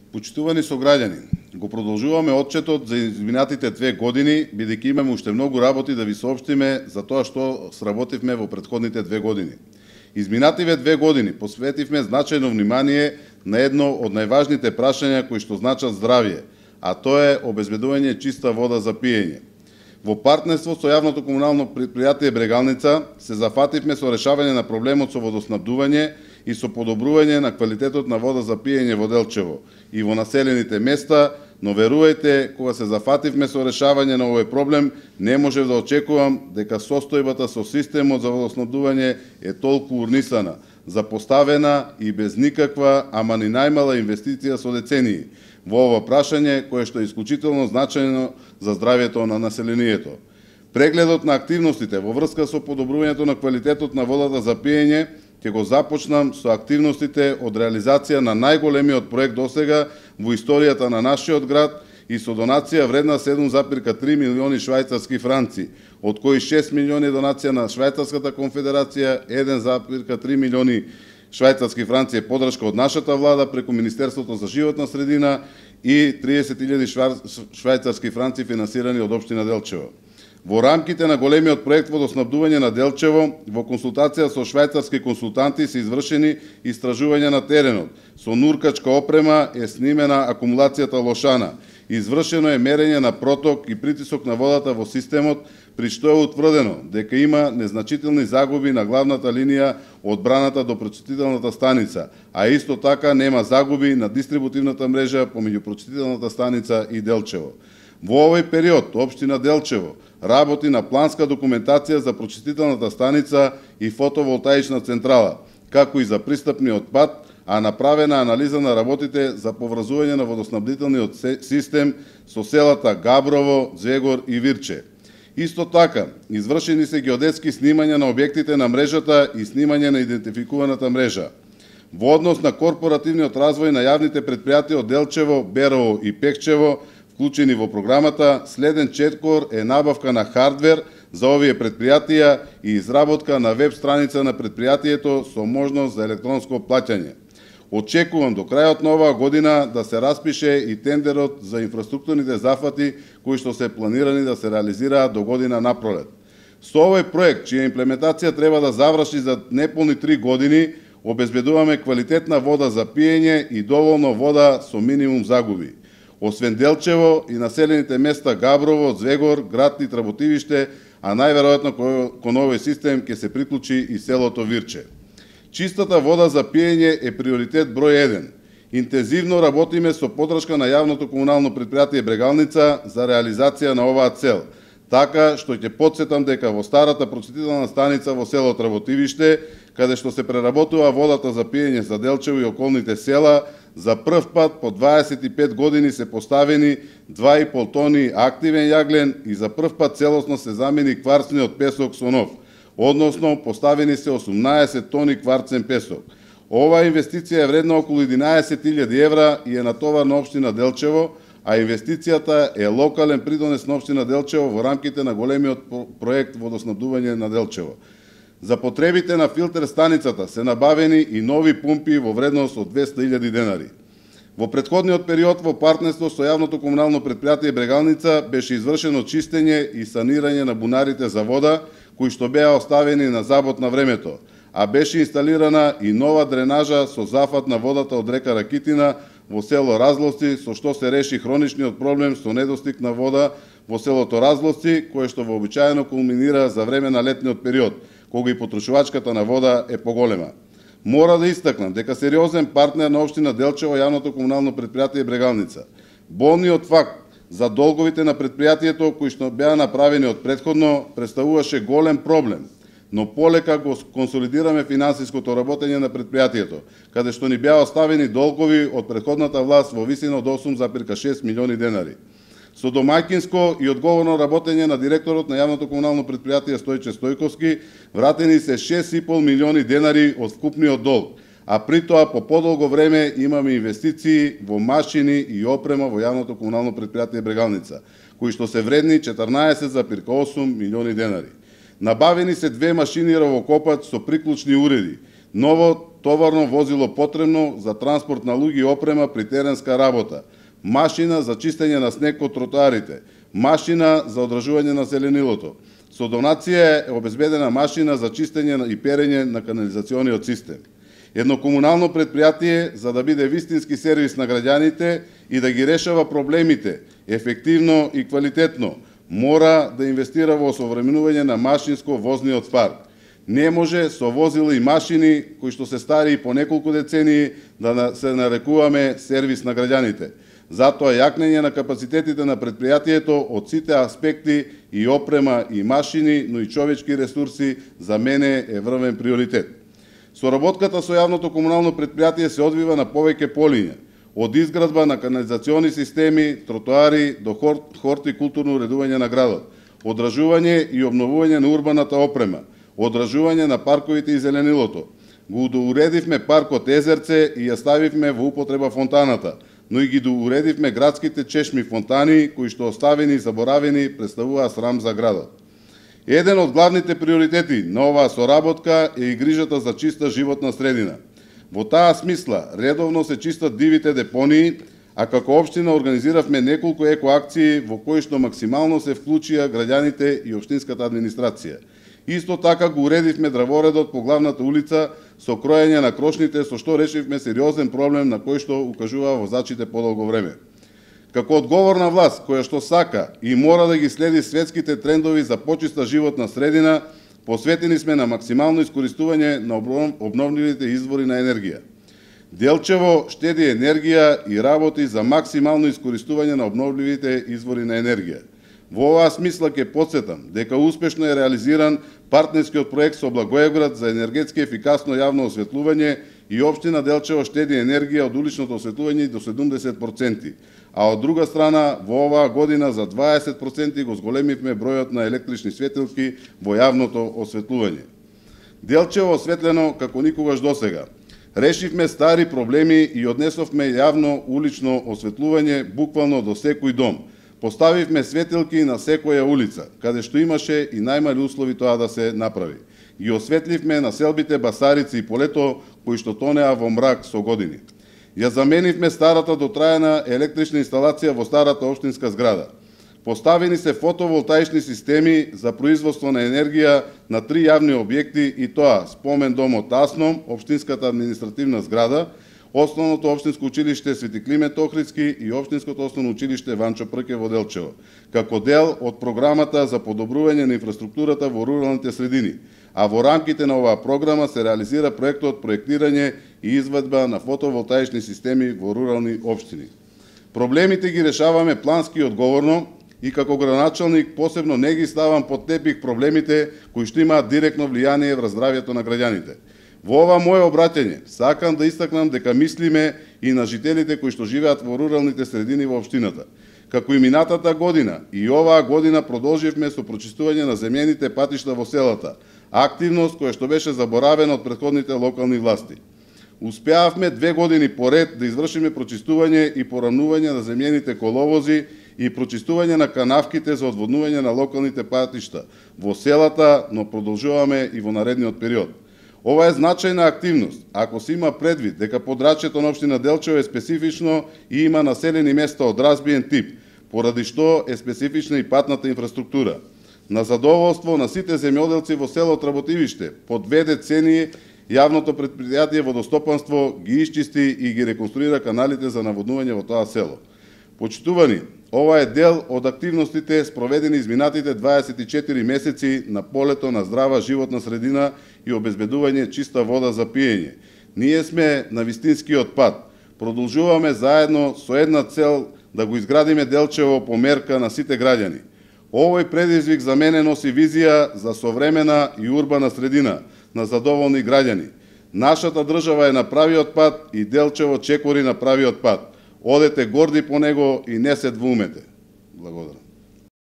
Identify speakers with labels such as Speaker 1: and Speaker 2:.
Speaker 1: Почитувани сограѓани, го продолжуваме отчетот за изминатите 2 години, бидејќи имаме уште многу работи да ви соопштиме за тоа што сработивме во претходните 2 години. Изминативе 2 години посветивме значајно внимание на едно од најважните прашања кои што значат здравје, а тоа е обезбедување чиста вода за пиење. Во партнерство со јавното комунално предпријатие Брегалница се зафативме со решавање на проблемот со водоснабдување и со подобрување на квалитетот на вода за пиење во Делчево и во населените места, но верувајте, кога се зафативме со решавање на овој проблем, не можев да очекувам дека состојбата со системот за водоснабдување е толку урнисана, запоставена и без никаква, ама ни најмала инвестиција со децении во ова прашање кое што е исклучително значајно за здравјето на населението. Прегледот на активностите во врска со подобрувањето на квалитетот на водата за пиење ќе го започнам со активностите од реализација на најголемиот проект досега во историјата на нашиот град и со донација вредна 7,3 милиони швајцарски франци, од кои 6 милиони донација на Швајцарската конфедерација, 1,3 милиони швајцарски франци е подршка од нашата влада преку Министерството за животна средина и 30.000 швајцарски франци финансирани од општина Делчево. Во рамките на големиот проект водоснабдување на Делчево, во консултација со швајцарски консултанти се извршени истражувања на теренот. Со нуркачка опрема е снимена акумулацијата Лошана. Извршено е мерење на проток и притисок на водата во системот, при што е утврдено дека има незначителни загуби на главната линија од браната до прочистителната станица, а исто така нема загуби на дистрибутивната мрежа помеѓу прочистителната станица и Делчево. Во овој период, општина Делчево работи на планска документација за прочистителната станица и фотоволтаична централа, како и за пристапниот пат, а направена анализа на работите за поврзување на водоснабдителниот систем со селата Габрово, Звегор и Вирче. Исто така, извршени се геодетски снимања на објектите на мрежата и снимање на идентификуваната мрежа. Во однос на корпоративниот развој на јавните предпријатија од Делчево, Берово и Пекчево, вклучени во програмата, следен четкор е набавка на хардвер за овие предпријатија и изработка на веб страница на предпријатието со можност за електронско плаќање. Очекувам до крајот на оваа година да се распише и тендерот за инфраструктурните зафати кои што се планирани да се реализираат до година напролет. Со овој проект, чија имплементација треба да заврши за неполни 3 години, обезбедуваме квалитетна вода за пиење и доволно вода со минимум загуби. Освен Делчево и населените места Габрово, Звегор, град и Тработивиште, а најверојатно кон овој систем ќе се приклучи и селото Вирче. Чистата вода за пиење е приоритет број 1. Интензивно работиме со подршка на јавното комунално предпријатие Брегалница за реализација на оваа цел, така што ќе потсетам дека во старата прочистителна станица во село Тработивиште, каде што се преработува водата за пиење за Делчево и околните села, за прв пат по 25 години се поставени 2,5 тони активен јаглен и за прв пат целосно се замени кварцниот песок со нов, односно поставени се 18 тони кварцен песок. Оваа инвестиција е вредна околу 11.000 евра и е натовар на општина Делчево, а инвестицијата е локален придонес на општина Делчево во рамките на големиот проект водоснабдување на Делчево. За потребите на филтер станицата се набавени и нови пумпи во вредност од 200.000 денари. Во претходниот период во партнерство со јавното комунално предпријатие Брегалница беше извршено чистење и санирање на бунарите за вода, кои што беа оставени на забот на времето, а беше инсталирана и нова дренажа со зафат на водата од река Ракитина во село Разловци, со што се реши хроничниот проблем со недостиг на вода во селото Разловци, кое што вообичаено кулминира за време на летниот период, кога и потрошувачката на вода е поголема. Мора да истакнам дека сериозен партнер на општина Делчево јавното комунално предпријатие Брегалница. Болниот факт за долговите на предпријатието кои што беа направени од претходно представуваше голем проблем, но полека го консолидираме финансиското работење на предпријатието, каде што ни беа оставени долгови од претходната власт во висина од 8,6 милиони денари. Со домаќинско и одговорно работење на директорот на јавното комунално предпријатие Стојче Стојковски вратени се 6,5 милиони денари од вкупниот долг, а при тоа по подолго време имаме инвестиции во машини и опрема во јавното комунално предпријатие Брегалница, кои што се вредни 14,8 милиони денари. Набавени се 2 машини ровокопач со приклучни уреди, ново товарно возило потребно за транспорт на луѓе и опрема при теренска работа, машина за чистење на снег од тротоарите, машина за одржување на зеленилото. Со донација е обезбедена машина за чистење и перење на канализациониот систем. Едно комунално предпријатие за да биде вистински сервис на граѓаните и да ги решава проблемите ефективно и квалитетно, мора да инвестира во осовременување на машинско-возниот парк. Не може со возила и машини кои што се стари по неколку децении да се нарекуваме сервис на граѓаните. Затоа јакнење на капацитетите на предпријатието од сите аспекти и опрема и машини, но и човечки ресурси за мене е врвен приоритет. Соработката со јавното комунално предпријатие се одвива на повеќе полиња, од изградба на канализациони системи, тротоари до хортикултурно уредување на градот, одржување и обновување на урбаната опрема, одржување на парковите и зеленилото. Го доуредивме паркот Езерце и ја ставивме во употреба фонтаната, но и ги доуредивме градските чешми фонтани, кои што оставени и заборавени представуваа срам за градот. Еден од главните приоритети на оваа соработка е и грижата за чиста животна средина. Во таа смисла, редовно се чистат дивите депонии, а како општина организиравме неколку екоакции во кои што максимално се вклучија граѓаните и општинската администрација. Исто така го уредивме дрворедот по главната улица со кроење на крошните, со што решивме сериозен проблем на кој што укажува возачите подолго време. Како одговорна власт која што сака и мора да ги следи светските трендови за почиста животна средина, посветени сме на максимално искористување на обновливите извори на енергија. Делчево штеди енергија и работи за максимално искористување на обновливите извори на енергија. Во оваа смисла ќе потсетам дека успешно е реализиран партнерскиот проект со Благоевград за енергетски ефикасно јавно осветлување и општина Делчево штеди енергија од уличното осветлување до 70%, а од друга страна во оваа година за 20% го зголемивме бројот на електрични светилки во јавното осветлување. Делчево осветлено како никогаш досега. Решивме стари проблеми и однесовме јавно улично осветлување буквално до секој дом. Поставивме светилки на секоја улица, каде што имаше и најмали услови тоа да се направи. Ги осветливме населбите Басарица и Полето, кои што тонеа во мрак со години. Ја заменивме старата дотраена електрична инсталација во старата општинска зграда. Поставени се фотоволтаични системи за производство на енергија на 3 јавни објекти и тоа Спомен домот Асном, општинската административна зграда, Основното општинско училиште Свети Климент Охридски и Општинското основно училиште Ванчо Прке во Делчево, како дел од програмата за подобрување на инфраструктурата во руралните средини, а во рамките на оваа програма се реализира проектот проектирање и изведба на фотоволтаични системи во рурални општини. Проблемите ги решаваме плански и одговорно и како градоначалник посебно не ги ставам под тепих проблемите кои што имаат директно влијание врз здравјето на граѓаните. Во ова моје обраќање сакам да истакнам дека мислиме и на жителите кои што живеат во руралните средини во општината. Како и минатата година, и оваа година продолживме со прочистување на земјените патишта во селата, активност која што беше заборавена од претходните локални власти. Успеавме 2 години поред да извршиме прочистување и порамнување на земјените коловози и прочистување на канавките за одводнување на локалните патишта во селата, но продолжуваме и во наредниот период. Ова е значајна активност, ако се има предвид дека подрачјето на општина Делчево е специфично и има населени места од разбиен тип, поради што е специфична и патната инфраструктура. На задоволство на сите земјоделци во село Работивиште, по 2 децении јавното предпријатие водостопанство ги исчисти и ги реконструира каналите за наводнување во тоа село. Почитувани, ова е дел од активностите спроведени изминатите 24 месеци на полето на здрава животна средина и обезбедување чиста вода за пиење. Ние сме на вистинскиот пат. Продолжуваме заедно со една цел да го изградиме Делчево по мерка на сите граѓани. Овој предизвик за мене носи визија за современа и урбана средина на задоволни граѓани. Нашата држава е на правиот пат и Делчево чекори на правиот пат. Одете горди по него и не се двумете. Благодарам.